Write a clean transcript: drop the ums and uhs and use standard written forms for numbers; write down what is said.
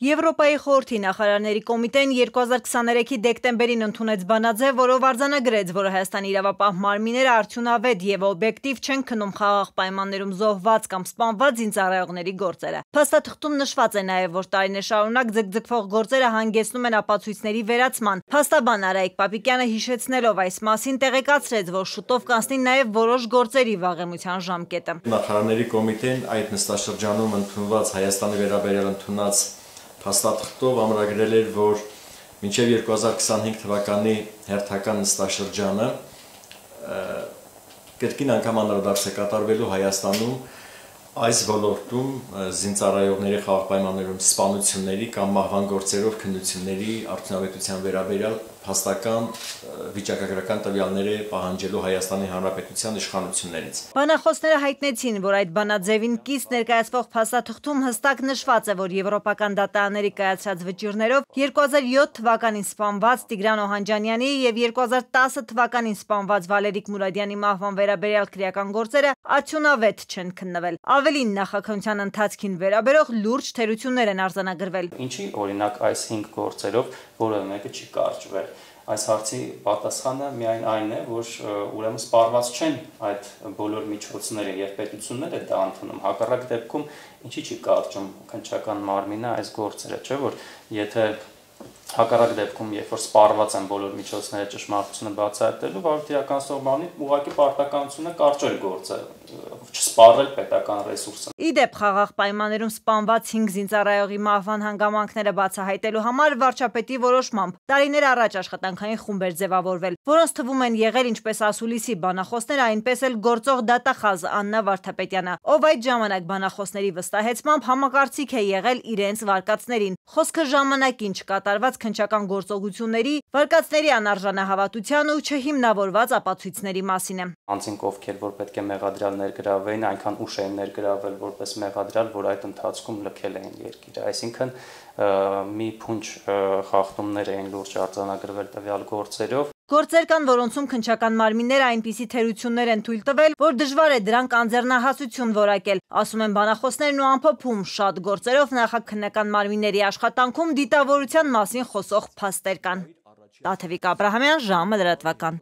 Եվրոպայի խորհրդի նախարարների կոմիտեն 2023-ի դեկտեմբերին ընդունեց բանաձև, որով արձանագրեց, որ Հայաստանի իրավապահ մարմինները արդյունավետ եւ օբյեկտիվ չեն քննում խաղաղ պայմաններում զոհված կամ սպանված զինծառայողների գործերը։ Փաստաթղթում նշված է նաեւ, որ տարիներ շարունակ ձգձգվող գործերը հանգեցնում են ապացույցների վերացման։ Փաստաբան Արայիկ Պապիկյանը հիշեցնելով այս մասին տեղեկացրեց, որ շուտով կանցնի նաեւ որոշ գործերի վաղեմության ժամկետը։ Նախարարների կոմիտեն այդ նստաշրջանում ընդունված Հայաստանի վերաբերյալ ընդունած փաստաթղթով ամրագրել էր, որ մինչև 2025 թվականի հերթական նստաշրջանը կրկին անգամ անդրադարձ է կատարվելու Հայաստանում այս ոլորտում զինծառայողների խաղաղ պայմաններում սպանությունների կամ մահվան գործերով քննությունների արդյունավետության վերաբերյալ փաստական վիճակագրական տվյալները պահանջելու Հայաստանի Հանրապետության իշխանություններից։ Բանախոսները հայտնեցին, որ այդ բանաձևին կից ներկայացվող փաստաթղթում հստակ նշված է, որ եվրոպական դատարանների կայացրած վճիռներով 2007 թվականին սպանված Տիգրան Օհանջանյանի եւ 2010 թվականին սպանված Վալերիկ Մուրադյանի մահվան վերաբերյալ քրեական գործերը արդյունավետ չեն քննվել։ Ավելին, նախաքննության ընթացքին վերաբերող լուրջ թերություններ են արձանագրվել։ Ինչի օրինակ այս 5 գործերով որևէ մեկը չի կարճվել։ Այս հարցի պատասխանը միայն այն է, որ ուրեմն սպառված չեն այդ բոլոր միջոցները եւ պետությունները դա ընդունում։ Հակառակ դեպքում ինչի չի կարճում քննչական մարմինը այս գործերը, չէ՞ որ եթե հակառակ դեպքում, երբ որ սպառված են բոլոր միջոցները ճշմարտությունը բացահայտելու, վարորդիականացնող բանի ուղղակի պարտականությունը կարճել գործը, չսպառել պետական ռեսուրսը։ Իդեպ խաղաղ պայմաններում սպանված 5 զինծառայողի մահվան հանգամանքները բացահայտելու համար վարչապետի որոշմամբ տարիներ առաջ աշխատանքային խումբ էր ձևավորվել, որոնց թվում են եղել ինչպես ասուլիսի բանախոսները, այնպես էլ գործող դատախազ Աննա Վարդապետյանը, ով այդ ժամանակ բանախոսների վստահեցմամբ համակարծիք է եղել իրենց վարկածներին։ Խոսքը ժամանակին չկատարված քննչական գործողությունների, վարկածների անարժանահավատության ու չհիմնավորված ապացույցների մասին է։ Անձինք ովքեր որ պետք է մեղադրյալ ներգրավվեին, այնքան ուշ էին ներգրավվել որպես մեղադրյալ, որ այդ ընթացքում լքել էին երկիրը։ Այսինքն մի փունջ խախտումներ էին լուրջ արձանագրվել տվյալ գործերով։ Գործեր կան, որոնցում քննչական մարմինները այնպիսի թերություններ են թույլ տվել, որ դժվար է դրանք անձեռնահասություն որակել, ասում են բանախոսներն ու ամփոփում շատ գործերով նախաքննական մարմինների աշխատանքում դիտավորության մասին խոսող փաստեր կան։ Տաթևիկ Աբրահամյան, ժամը լրատվական։